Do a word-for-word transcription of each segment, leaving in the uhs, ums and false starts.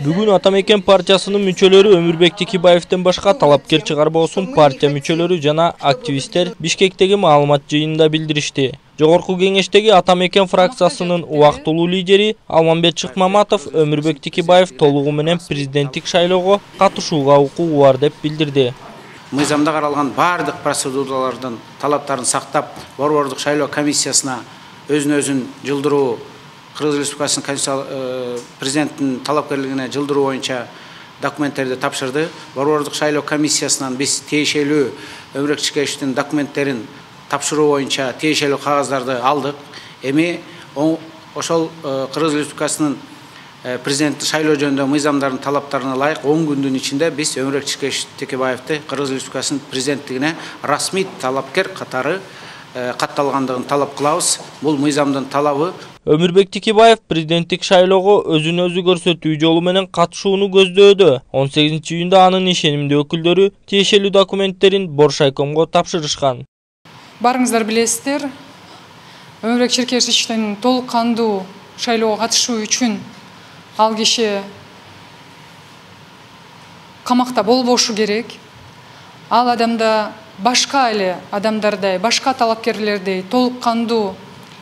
Бүгүн Атамекен партиясынын мүчөлөрү Өмүрбек Текебаевден башка талапкер чыгарбоосун партия мүчөлөрү жана активисттер Бишкектеги маалымат жыйынында билдиришти. Жогорку кеңештеги Атамекен фракциясынын убактылуу лидери Алмамбет Шыкмаматов Өмүрбек Текебаев толугу менен президенттик шайлоого катышууга укугу бар деп билдирди. Мыйзамда каралган бардык процедуралардын талаптарын сактап, борбордук шайлоо комиссиясына өзүн өзүн жылдыруу, Кыргыз Республикасынын конституциялык президенттин талапкерлигине жылдыруу боюнча документтерди тапшырды. Борбордук шайлоо комиссиясынан биз тиешелүү Өмүрбек Текебаевдин документтерин тапшыруу боюнча тиешелүү кагаздарды алдык. Эми ошол Кыргыз Республикасынын президенттик шайлоо жөнүндө мыйзамдардын талаптарына ылайык он күндүн ичинде биз Өмүрбек Текебаевди Кыргыз Республикасынын президенттигине расмий талапкер катары катталгандыгын талап кылабыз. Бул мыйзамдын талабы. Өмүрбек Текебаев президенттик шайлоого өзүн өзү көрсөтүү жолу менен катышууну көздөөдө. он сегизинчи июнда анын ишенимдүү өкүлдөрү тиешелүү документтерин Боршайкомго тапшырышкан. Барыңыздар билесиздер, Өмүрбек Текебаевдин толук кандуу шайлоого катышуу үчүн ал киши камакта болбошу керек. Ал адамда башка эле адамдардай, башка талапкерлердей толук кандуу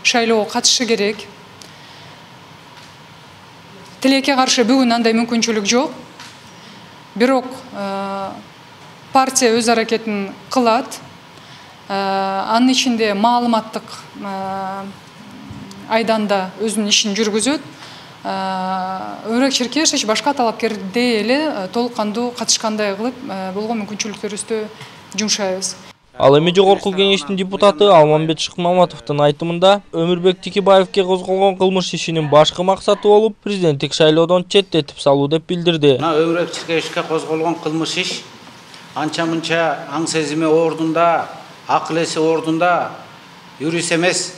шайлоого катышы керек. Тилекке каршы бүгүн андай мүмкүнчүлүк жок. Бирок партия өз аракетин кылат. Анын ичинде маалыматтык айданда өзүнүн ишин жүргүзөт. Өмүрбек Текебаев башка талапкердей эле толук кандуу катышкандай кылып болгон мүмкүнчүлүктөрүбүздү жумшайбыз. Ал эми жогорку кеңештин депутаты Алмамбет Шыкмаматовдун айтымында Өмүрбек Текебаевге козголгон кылмыш ишинин башкы максаты болуп президенттик шайлоодон четтетип салуу деп билдирди. Мына Өмүрбек Текебаевге козголгон кылмыш иш анча-мынча аң сезими ордунда, акыл эси ордунда юрист эмес.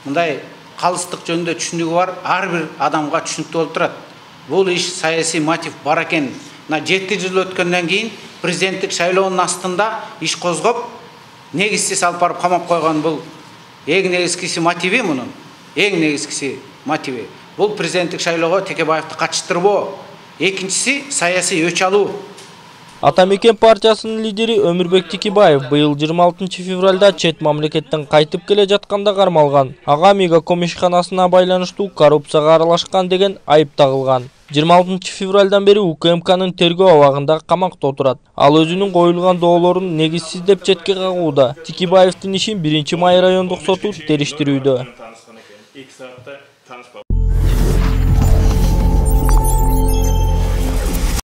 Мындай калыстык жөнүндө түшүнүгү бар ар бир адамга түшүнүктүү болуп турат. Бул иш саясий мотив бар экен. Мына жети жыл өткөндөн кийин президенттик шайлоонун астында иш козгоп, негизсиз алып барып камап койгон. Бул эң негизгиси мотиви мунун. Эң негизгиси мотиви. Бул президенттик шайлоого Текебаевди катыштырбоо. Экинчиси саясий өч алуу. Атамекен партиясынын лидери Өмүрбек Текебаев быйыл жыйырма алтынчы февралда чет мамлекеттен кайтып келе жатканда кармалган. Ага Мегаком ишканасына байланыштуу коррупцияга аралашкан деген айып тагылган. жыйырма алтынчы февралдан бери УКМКнын тергөө абагында камакта отурат. Ал өзүнүн коюлган доолорун негизсиз деп четке кагууда. Текебаевдин ишин биринчи май райондук соту териштирүүдө.